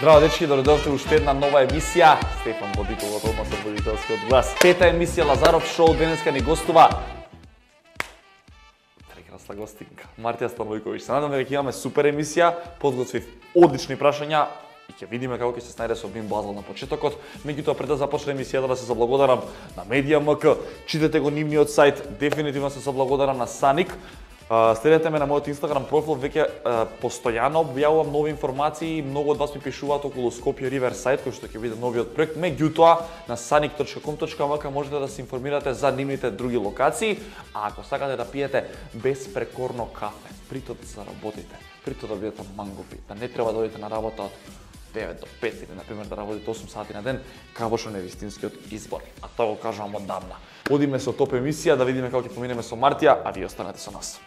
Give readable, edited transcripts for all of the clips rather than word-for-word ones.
Здраво дечки, дојдовте уште една нова емисија. Стефан Водител од Одма со водителскиот глас. Пета емисија Лазаров шоу, денеска ни гостува прекрасна гостинка, Мартија Станојковиќ. Се надам дека ќе имаме супер емисија, подготвив одлични прашања и ќе видиме како ќе се снајде со Бим Базел на почетокот. Меѓутоа пред да започне емисијата да се заблагодарам на Медија МК, читате го нивниот сајт, дефинитивно се заблагодарам на Саник. Следете ме на мојот Инстаграм профил, веќе постојано објавувам нови информации, многу од вас ми пишуваат околу Скопје Риверсајд, кој што ќе биде новиот проект. Меѓутоа, на sanic.com.mk можете да се информирате за нивните други локации, а ако сакате да пиете безпрекорно кафе, притоа да заработите, притоа да бидете мангупи, да не треба да одите на работа од 9 до 5 или, например, да работите 8 сати на ден, Кабошон е вистинскиот избор. А тоа го кажувам оддавна. Одиме со топ емисија, да видиме како ќе поминеме со Мартија, а вие останете со нас.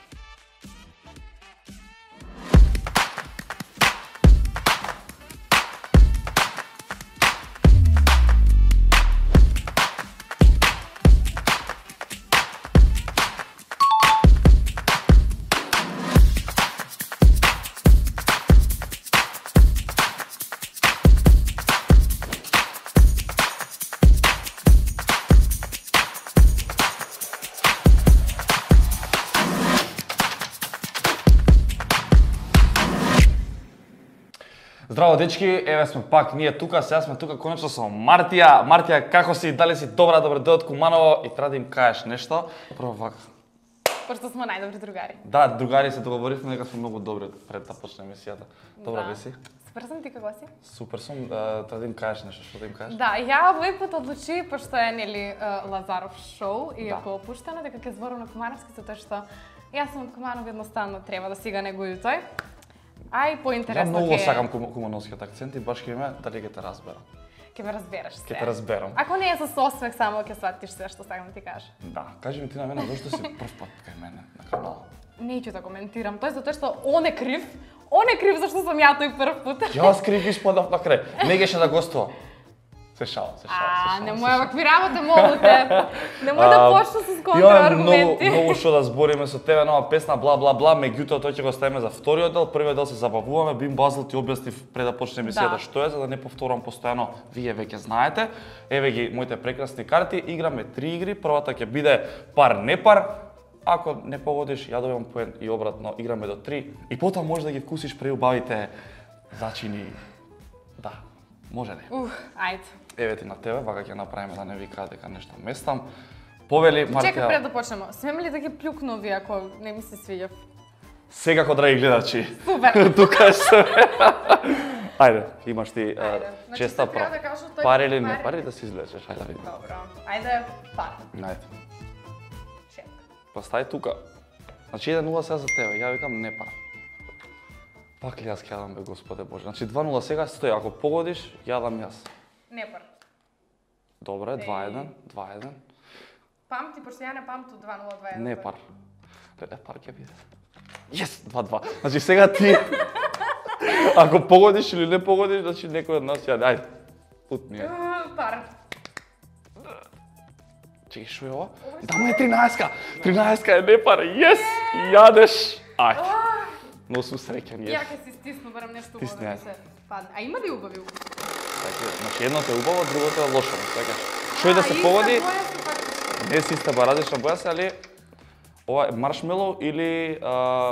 Здраво дечки, еве сме пак ние тука, сега сме тука конечно со Мартија. Мартија, како си? Дали си добра, добре дојде од Куманово и треба да им кажеш нешто? Прво вака. Пошто сме најдобри другари. Да, другари се договоривме дека сме многу добри пред да почне емисијата. Добра Да. ли си? Супер сум, ти како си? Супер сум, треба да им кажеш нешто, што да им кажеш? Да, ја овој пат одлучи, пошто е нели Лазаров шоу и е Да. поопуштено, дека ќе зборам на кумановски, затоа што јас сум од Куманов, едноставно треба да сега негој тој. А и Ја поинтересно многу сакам кумановскиот акцент и баш ќе ме дали ќе те разберам. ќе ме разбереш се. Ќе те разберам. Ако не е со осмех само ќе сватиш се што сакам да ти кажам. Да, кажи ми ти на мене зошто си прв пат кај мене на канал. Неќу да коментирам, тој затоа што он е крив. Он е крив зашто сум ја тој прв пат. Јас крив испадав на крај. Не геше да гостува. Се шалам. Немој вакви работи, молу те. Немој да почнеш со контрааргументи. Имаме многу што да збориме со тебе, нова песна, бла бла бла, меѓутоа тој ќе го ставиме за вториот дел. Првиот дел се забавуваме, Бим Базел ти објаснив пред да почне емисијата што е, за да не повторувам постојано, вие веќе знаете. Еве ги моите прекрасни карти, играме 3 игри, првата ќе биде пар не пар. Ако не погодиш, ја добивам поен и обратно, играме до 3 и потоа може да ги вкусиш преубавите зачини. Да, може не. Ајде. Еве ти на тебе, вака ќе направиме да не викаат дека нешто местам. Повели Мартија. Чекај пред да почнеме. Смеме ли да ги плюкну овие ако не ми се свиѓа? Секако, драги гледачи. Супер. Тука се. Ајде, имаш ти Значи, честа треба прав. да кажам тој Пари или не пари. пари да се излечеш, ајде да видиме. Добро. Ајде, пар. Ајде. Чек. Па стај тука. Значи 1-0 сега за тебе, ја викам не пар. Пак ли јас ќе јадам бе, Господе Боже. Значи 2-0 сега стои, ако погодиш, јадам јас. Не пар. Добре, 2-1, 2-1. Памти, пошто ја не памту 2-0-2-1. Не пар. Леле, пар ќе биде. Јес, 2-2. Значи сега ти, ако погодиш или не погодиш, значи некој од нас јаде. Ајде, путни е. Пар. Чекай, шо е ова? Дама е 13-ка! 13-ка е не пар, јес! Јадеш! Ајде. Но сум среќен, Ја јес. ќе си стисну барам нешто убаво Стисни, да ми ајде. се падне. А има ли убави убави? Значи едното е убаво, другото е лошо, така. Што и да се погоди, не си иста различна боја се, али ова е маршмелоу или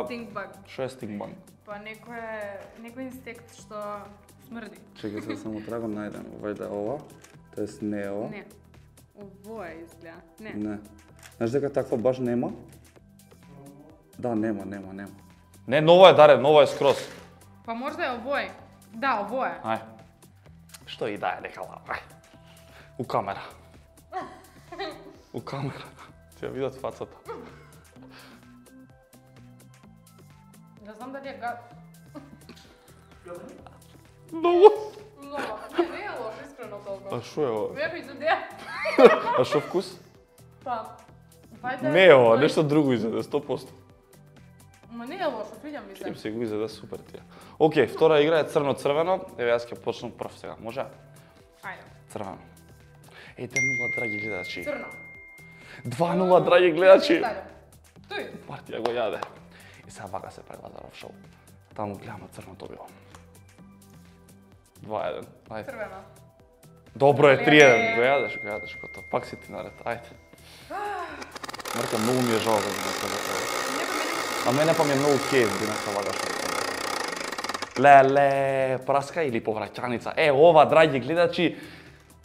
Стингбаг. што е стингбаг? Па некој инсект што смрди. Чекај се само трагам најдем. Вајде ова, тоест не е ова. Не. Ово е изгледа. Не. Не. Знаеш дека таква баш нема? Да, нема. Не, ново е, Даре, ново е скроз. Па можда е овој. Да, ово е. Ај. Што и да е дека лава. Ај. У камера. У камера. Ти ја видат фацата. Не знам дали е гад. Многу. Много. Не е лошо, искрено толку. А што е ова? Веруј идеја. А што вкус? Па. Вајде. Не е ова, нешто друго изеде, 100%. Ма не е лошо, свиѓа ми се. Им се го изеде супер тие. Океј, втора игра е црно-црвено. Еве јас ќе почнам прв сега, може? Ајде. Црвено. Е, 2-0, драги гледачи. Црно. 2-0, драги гледачи. Тој. Мартија го јаде. И сега вака се прави Лазаров шоу. Таму гледам на црното било. 2-1. Ајде. Црвено. Добро е 3-1. Го јадеш кото. Пак си ти наред. Ајде. Марка, многу ми е жал да не кажа тоа. А мене па ми е многу кеј да не влагаш. Леле, праска или повраќаница. Ова, драги гледачи,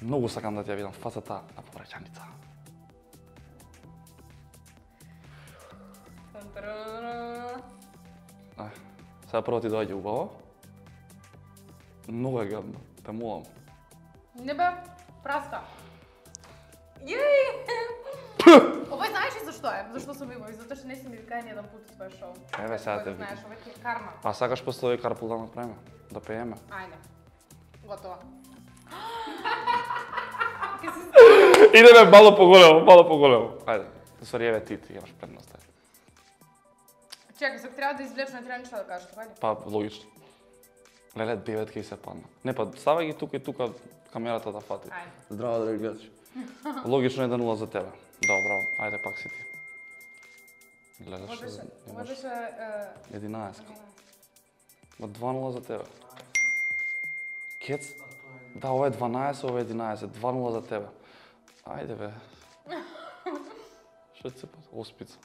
многу сакам да ти ја видам фацата на повраќаница. Сега прво ти доаѓа убаво. Многу е гадно, те молам. Не бе, праска. Јеј! Овој знаеш ли зашто е? Зашто сум убави? Затоа што не си ми викај ни еден пут у твој шоу. Еве сега те знаеш, овој ти е карма. А сакаш после овој карпул да направиме? Да пееме? Ајде. Готово. Идеме мало поголемо. Ајде, ствари еве ти имаш предност. Чекај, се треба да извлечеш, не треба ништо да кажеш, така ли? Па, логично. Леле, 9 кај се падна. Не, па, ставај ги тука и тука камерата да фати. Ајде. Здраво, драги гледачи. Логично 1-0 за тебе. Добро, ајде пак си ти. Гледаш, Можеше... 11. 2-0 за тебе. Кец? Да, ова е 12, ова е 11. 2-0 за тебе. Ајде, бе. Што ти се пат? Оспица.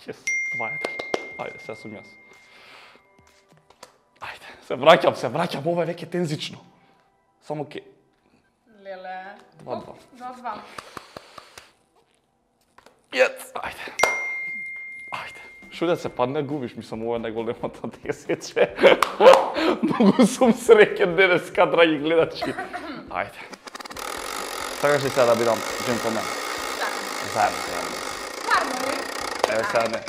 Yes, 2-1. Ајде, сега сум јас. Ајде, се враќам, ова е веќе тензично. Само ке... Леле. 2-2. 2-2. Јец, ајде. Шо да се падне, губиш, мислам, ова е најголемата десече. Многу сум среќен денеска, драги гледачи. Ајде. Сакаш ли сега да бидам джентлмен? Заедно. Еве сега не.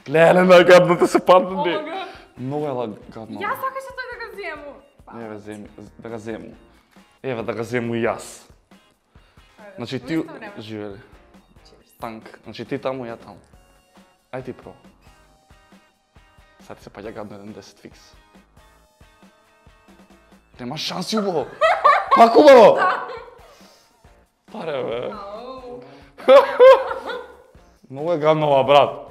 Леле, најгадно да се падне. Омага. Многу е гадно. Јас сакаше тој да го зему. Еве, да го зему. Еве, да го зему и јас. Значи ти... Живели. Танк. Значи ти таму, ја таму. Ај ти про. Сега ти се паѓа гадно 1-10 фикс. Нема шанси убаво. Пак убаво. Паре, бе. Многу е гадно ова, брат.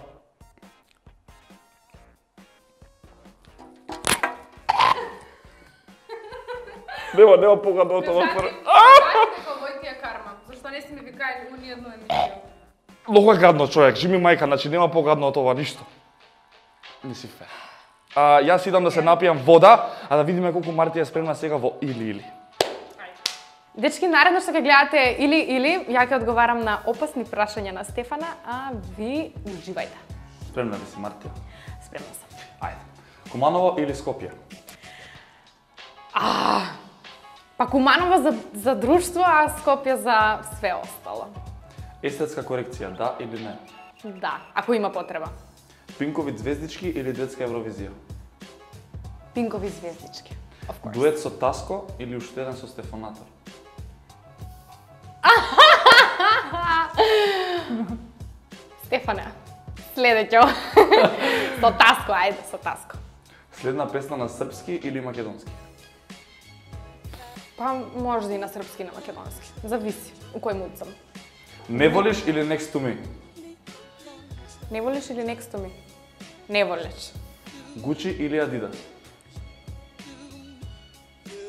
Нема погадно од ова. Овој ти е карма. Зашто не си ми викај у ниедну емисија? Многу е гадно, човек. Жими мајка, значи нема погадно од ова ништо. Не си фер. Јас идам да се напијам вода, а да видиме колку Марти е спремна сега во или. Дечки, наредно што ќе гледате или, ја ќе одговарам на опасни прашања на Стефана, а ви уживајте. Спремна ли си, Мартија? Спремна сум. Ајде. Куманово или Скопје? Па Куманово за друштво, а Скопје за све остало. Естетска корекција, да или не? Да, ако има потреба. Пинкови звездички или детска Евровизија? Пинкови звездички. Дует со Таско или уште еден со Стефанатор? Стефане, следеќо. Со Таско, ајде, со Таско. Следна песна на српски или македонски? Па може да и на српски и на македонски. Зависи, у кој муд сум. Не волиш или Next to me? Не волиш или Next to me? Не волиш. Гучи или Адидас?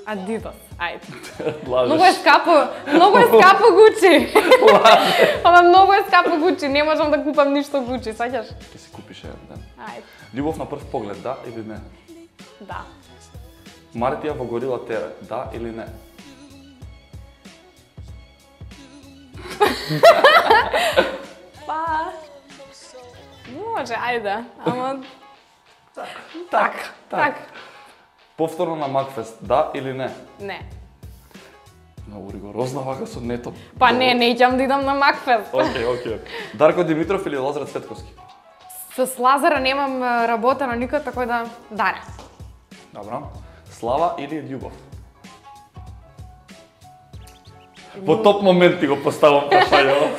Адидас, ајде. Лажеш. Многу е скапо Гучи. Ама многу е скапо Гучи, не можам да купам ништо Гучи, саѓаш? Ќе си купиш еден ден. Ајде. Љубов на прв поглед, да или не? Да. Мартија во Горила ТВ, да или не? Па... Може, ајде, ама... Так. Повторно на Макфест, да или не? Не. Многу ригорозна вака со нето. Па не ќам да идам на Макфест. Океј. Дарко Димитров или Лазар Цветковски? С Лазара немам работено никој, така да... Даре. Добро. Слава или љубов? Во топ момент ти го поставам прашање.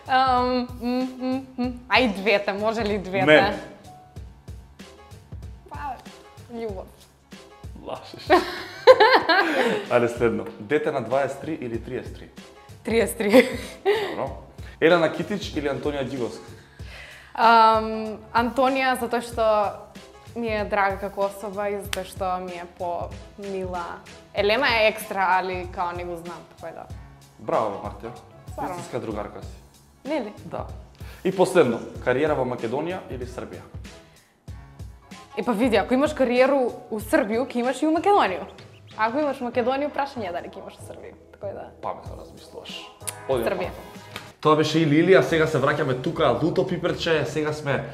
Ај двете, може ли двете? Не. Па, љубов. Лашиш. Ајде следно. Дете на 23 или 33? 33. Добро. Елена Китич или Антонија Ѓиговска? Антонија, затоа што ми е драга како особа и затоа што ми е по-мила. Елена е екстра, али као не го знам, така да. Браво, Мартија. Стварно. Истинска другарка си. Нели? Да. И последно, кариера во Македонија или Србија? Па види, ако имаш кариеру у Србију, ќе имаш и у Македонија. Ако имаш Македонија, прашање дали ќе имаш у Србију. Така да. Паметно размислуваш. Србија. Тоа беше и Лилија, сега се враќаме тука, луто пиперче, сега сме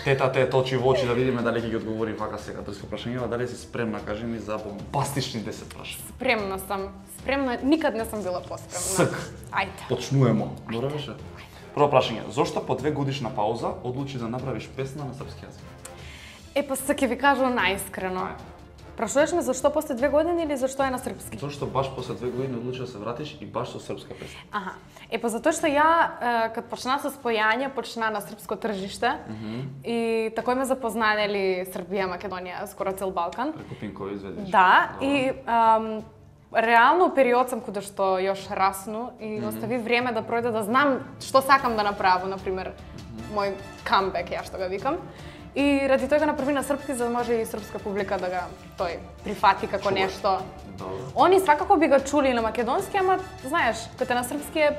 тета очи во очи да видиме дали ќе ги одговори вака сега дрско прашањева, дали си спремна, кажи ми, за бомбастични 10 прашања. Спремна сум. Спремна, никад не сум била поспремна. Ск. Ајде. Почнуемо. Добро беше. Прво прашање, зошто по 2 годишна пауза одлучи да направиш песна на српски јазик? Па се ќе ви кажам наискрено. Прашуваш ме зашто после 2 години или зашто е на српски? Зошто баш после 2 години одлучи да се вратиш и баш со српска песна? Аха. Па затоа што ја кад почна со спојање, почна на српско тржиште и такој ме запозналели Србија, Македонија, скоро цел Балкан. Преку Пинкови изведеш. Да, и реално период сам кога што још расну и остави време да пројде да знам што сакам да направам, например, мој камбек, ја што го викам. И ради тој го направи на српски, за да може и српска публика да го прифати како нешто. Добро. Они свакако би го чули на македонски, ама знаеш, кога на српски е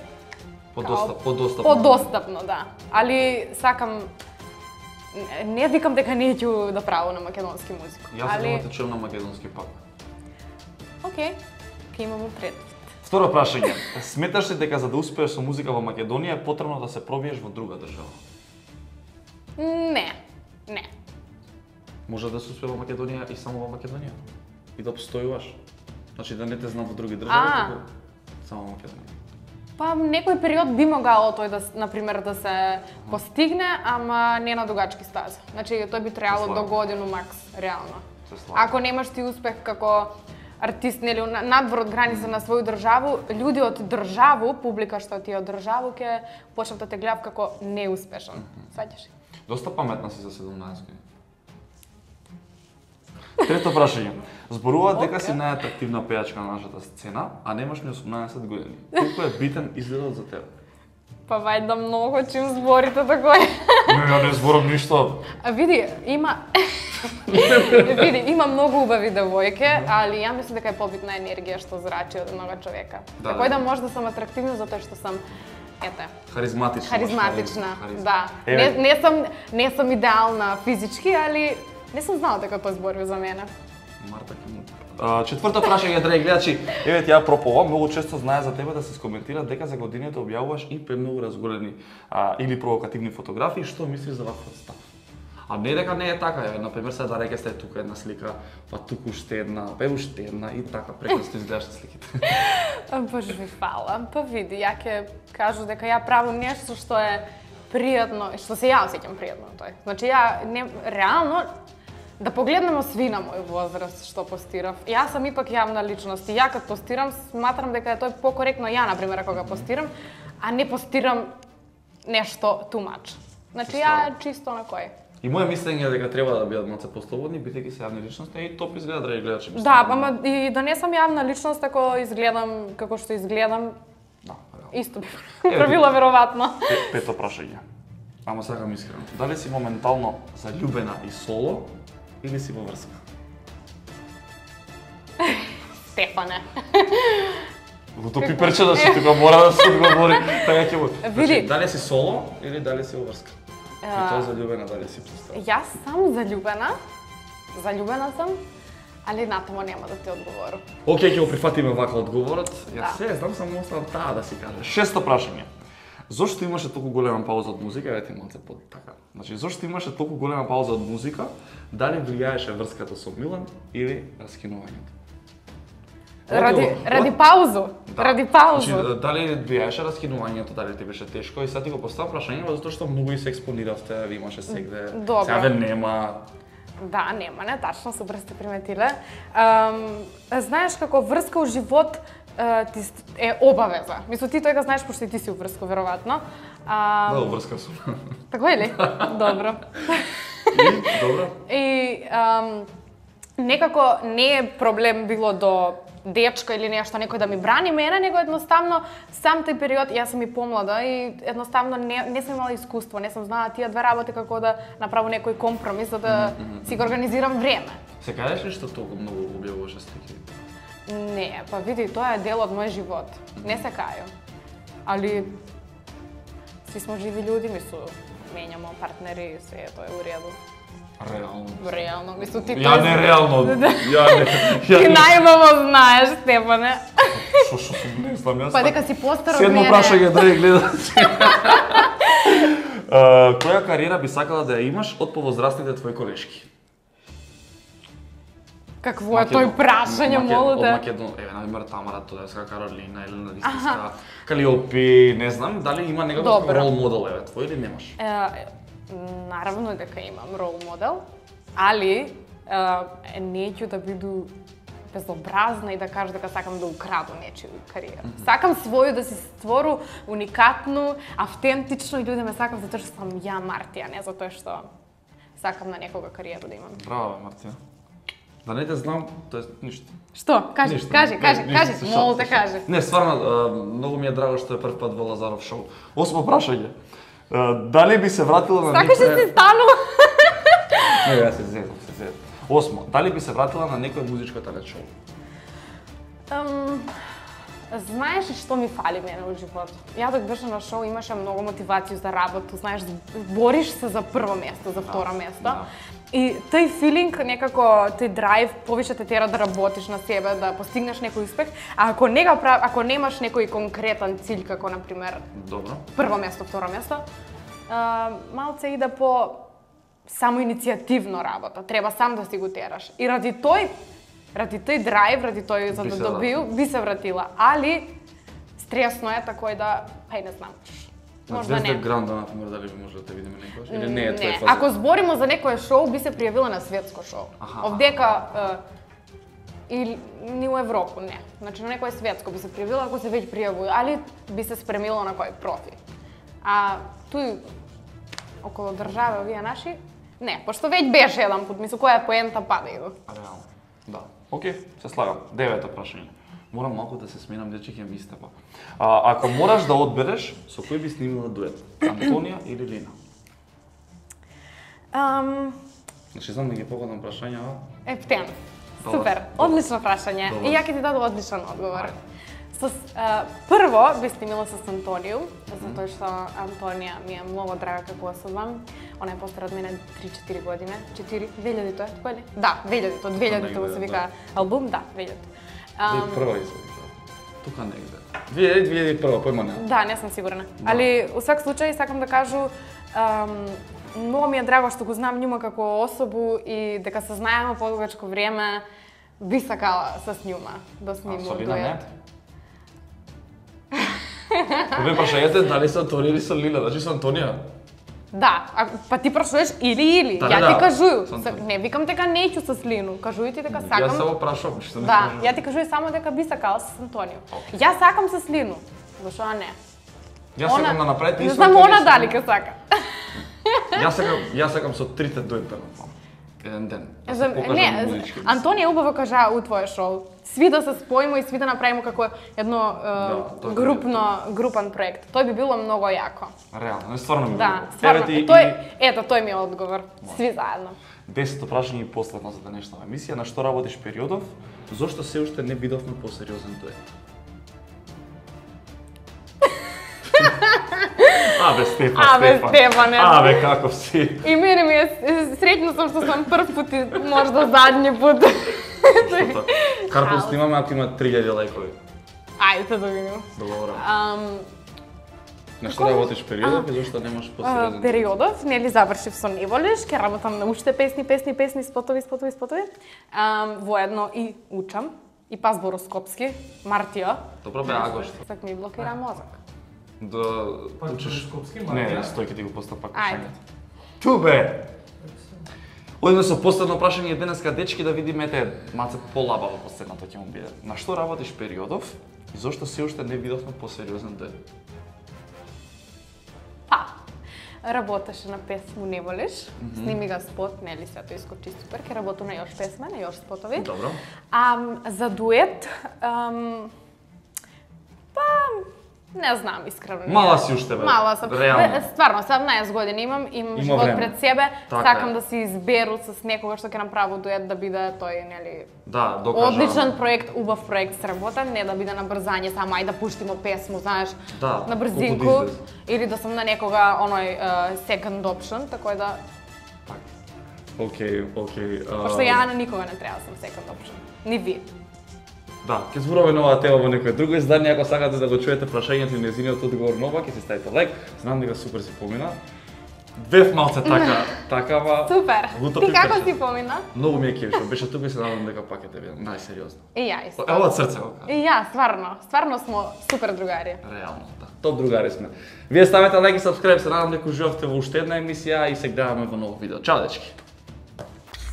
подостапно, да. Али сакам не викам дека не ќе да правам на македонски музика. Јас сакам да те чуем на македонски пак. Океј, ќе имаме пред. Второ прашање. Сметаш ли дека за да успееш со музика во Македонија е потребно да се пробиеш во друга држава? Не. Може да се успее во Македонија и само во Македонија? И да постојуваш? Значи да не те знам во други држави, туку само во Македонија. Па некој период би могало тој да, например, да се постигне, ама не на дугачки стази. Значи тој би требало до годину макс, реално. Ако немаш ти успех како артист, нели, надвор од граница на своју државу, луѓе од државу, публика што ти е од државу, ќе почнат да те гледат како неуспешен. Сваќаш? Доста паметна си за 17 години. Трето прашање. Зборуваат дека си најатрактивна пејачка на нашата сцена, а немаш ни 18 години. Колку е битен изгледот за тебе? Па вајда многу чим зборите такој. Не, не зборам ништо. Види, има многу убави девојки, али ја мислам дека е побитна енергија што зрачи од еднога човека. Такој да може да сум атрактивна затоа што сум харизматична, да. Не сум идеална физички, али не сум знала дека тоа збори за мене. Марта четврто прашање, драги гледачи, еве ти ја проповам, многу често знае за тебе да се скоментира дека за годините објавуваш и премногу разголени или провокативни фотографии, што мислиш за ваков став? А не дека не е така, еве, например, сега да рекесте тука една слика, па туку уште една, па уште една и така, прекрасно изгледаш сликите. Боже ви фала, па види, ја ќе кажу дека ја правам нешто што е пријатно, што се ја осеќам пријатно тој. Значи ја реално да погледнемо сви на мој возраст што постирав. Јас сум ипак јавна личност и ја кога постирам сматрам дека е тој покоректно ја, например, кога постирам, а не постирам нешто too much. Значи ја чисто на кој. И моје мислење е дека треба да бидат малце послободни, бидејќи се јавни личности и топ изгледа, драги гледачи. Да, ама и да не сум јавна личност ако изгледам како што изгледам. Да, исто би правила веројатно. Пето прашање. Ама сакам искрено. Дали си моментално заљубена и соло или си во врска? Стефане. Луто пиперче да се тука мора да се одговори. Така ќе му. Види. Дали си соло или дали си во врска? И тоа заљубена, дали си пристрана? Јас сум заљубена. Заљубена сум, али натамо нема да ти одговорам. Океј, ќе го прифатиме вака одговорот. Јас се знам само оставам таа да си каже. Шесто прашање. Зошто имаше толку голема пауза од музика? Еве ти малце под така. Значи, зошто имаше толку голема пауза од музика? Дали влијаеше врската со Милан или раскинувањето? Ради паузу. Да. Ради паузу. Значи, дали влијаеше раскинувањето, дали ти беше тешко и сега ти го поставам прашањето затоа што многу и се експониравте, ви имаше сегде. Сега ве нема. Да, нема, не тачно, супер сте приметиле. Знаеш како врска у живот ти е обавеза. Мислам, ти тој го знаеш пошто и ти си уврско, веројатно. Да, уврска сум. Тако е ли? Добро. И, добро. И некако не е проблем било до дечка или нешто, некој да ми брани мене, него едноставно сам тој период, јас сум и помлада и едноставно не сум имала искуство, не сум знала тие две работи како да направам некој компромис за да си го организирам време. Се кажеш ли што толку многу објавуваш слики? Не, па види, тоа е дел од мој живот. Не се кајам. Али си смо живи луѓе, мислу, менјамо партнери и се, тоа е у реду. Реално, мислу ти Ја не реално. Ти најубаво знаеш, Стефане. Шо не знам јас. Па дека си постар од Седмо мене. прашање, драги гледачи. Која кариера би сакала да ја имаш од повозрастните твои колешки? Какво е тој прашање, молу Од те? Македон, например, Тамара Тодевска, Каролина, Елена Вистинска, Калиопи, не знам, дали има некој Добро. рол модел, твој или немаш? Наравно дека имам рол модел, али неќу да биду безобразна и да кажу дека сакам да украду нечiju кариера. Сакам своју да си створу уникатну, автентично и луѓе ме сакам затоа што сум ја Мартија, не затоа што сакам на некога кариеру да имам. Браво, Мартија. Да не те знам, тоа е ништо. Што? Кажи, Ништо. кажи, Ништо, се молу шалам, те се шалам. кажи. Не, стварно, многу ми е драго што е прв пат во Лазаров шоу. Осмо прашање. Дали би се вратила на Сакаш да си станува? Не, јас се зезам. Осмо, дали би се вратила на некој музичко талент шоу? Знаеш ли што ми фали мене во живот? Ја док беше на шоу имаше многу мотивација за работа, знаеш, бориш се за прво место, за второ место. Да. И тој филинг, некако тој драйв повише те тера да работиш на себе, да постигнеш некој успех, а ако немаш некој конкретен cilj како на пример Добро. прво место, второ место, малце иде по самоиницијативно работа. Треба сам да си го тераш. И ради тој драйв, ради тој за Би да се добил, би се вратила. Али стресно е такој да, па и не знам. Можда Звезда не. Гранда, например, дали би може да те видиме некојаш? Или не е твој Не, фаза? ако зборимо за некое шоу, би се пријавила на светско шоу. Аха. Овдека или ни у Европу, не. Значи на некое светско би се пријавила ако се веќе пријавува, али би се спремила на кој профи. А туј околу државе овие наши, не, пошто веќе беше еден пат, мислу која е поента па да иду. Реално. Да. Океј, се слагам. Девето прашање. Морам малку да се сменам, дече ќе ми истепа. Ако мораш да одбереш, со кој би снимила дует? Антонија или Лина? Значи, знам да ги погодам прашања, Ептен. Добар. Супер, одлично прашање. Добар. И ја ќе ти дадам одличен одговор. Ајде. Прво би снимила со Антонију, затоа што Антонија ми е многу драга како особа. Она е постара од мене 3-4 години. 2000-то е, кој ли? Да, 2000-то, 2000-то му се вика албум, да, 2000-то. Прва извади. Тука негде. 2001, појма нема. Да, не сум сигурна. Али, у свак случај, сакам да кажу, многу ми е драго што го знам њума како особу и дека се знаеме подугачко време, би сакала с њума да снимам Со Лина не? дует. Ве прашањето е дали со Антонија или со Лина, значи со Антонија. Да, па ти прашуваш или. Да, Ја да, ти кажују. со Антонија. Не викам дека неќу со Лину, кажуј ти дека Јас сакам. само прашувам, што не Да, кажувам. ја ти кажуј само дека би сакала со Антонио. Јас сакам со Лину. Зашо не? Јас сакам да направите Не исто. знам она дали ке сака. Јас сакам со трите дует да направам. Еден ден. Да се покажам Не, музички. Антонија убаво кажа у твое шоу. Сви да се споимо и сви да направиме како едно тоа би групан проект. Тој би било многу јако. Реално, не стварно ми Да, било. стварно. Еве ти Тој ми е одговор. Сви заедно. 10-то прашање и последно за денешната емисија. На што работиш периодов? Зошто се уште не видовме посериозен дует? Абе, Стефане. Абе, каков си? И мене ми е среќна сум што сум прв пат и можда задни пат. Што Карпун снимаме ако има 3000 лајкови. Ајде да видиме. Добро. На што работиш периодов и зошто немаш посериозен дует? Периодов, нели завршив со Неволиш, ќе работам на уште песни, спотови. Воедно и учам. И пас Бороскопски, Мартија. Добро бе, Агош. Сак ми блокира мозок. Да учиш... Не, стој ќе ти го постапа Ајде. прашањето. Ту бе! Одиме со последно прашање денеска, дечки, да видиме ете малце полабаво последното ќе му биде. На што работиш периодов и зошто се уште не видовме посериозен дует? Па, работеше на песму Не волиш. Сними ga спот, нели се тоа искочи супер, ќе работи на још песме, на још спотови. Добро. За дует, не знам, искрено. Мала си уште, бе. Мала сам. Реално. Стварно, 17 години имам живот време. пред себе. Така Сакам е. да си изберу с некога што ќе направи дует да биде тој, нели, Да, докажа. одличен проект, убав проект сработен, не да биде на брзање, само ај да пуштимо песму, знаеш, Да, на брзинку, колку да излезе. или да сум на некога оној second option, така да, Океј. пошто ја на никога не треба да сум second option, ни ви. Да, ќе зборуваме на оваа тема во некој друго издание, ако сакате да го чуете прашањето и нејзиниот одговор на ова, ќе си ставите лайк. Знам дека супер си помина. Бев малце такава. Супер. Луто Ти пи како беше. си помина? Многу ми е кеф што беше тука и се надам дека пак ќе те видам. Најсериозно. И ја исто. Ево од срце го кажам. И ја, стварно смо супер другари. Реално, да. Топ другари сме. Вие ставете лайк и сабскрайб, се надам дека уживавте во уште една емисија и се гледаме во ново видео. Чао, дечки.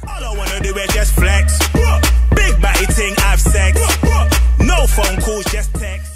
All I wanna do is just flex. Big body ting, have sex. No phone calls, just text.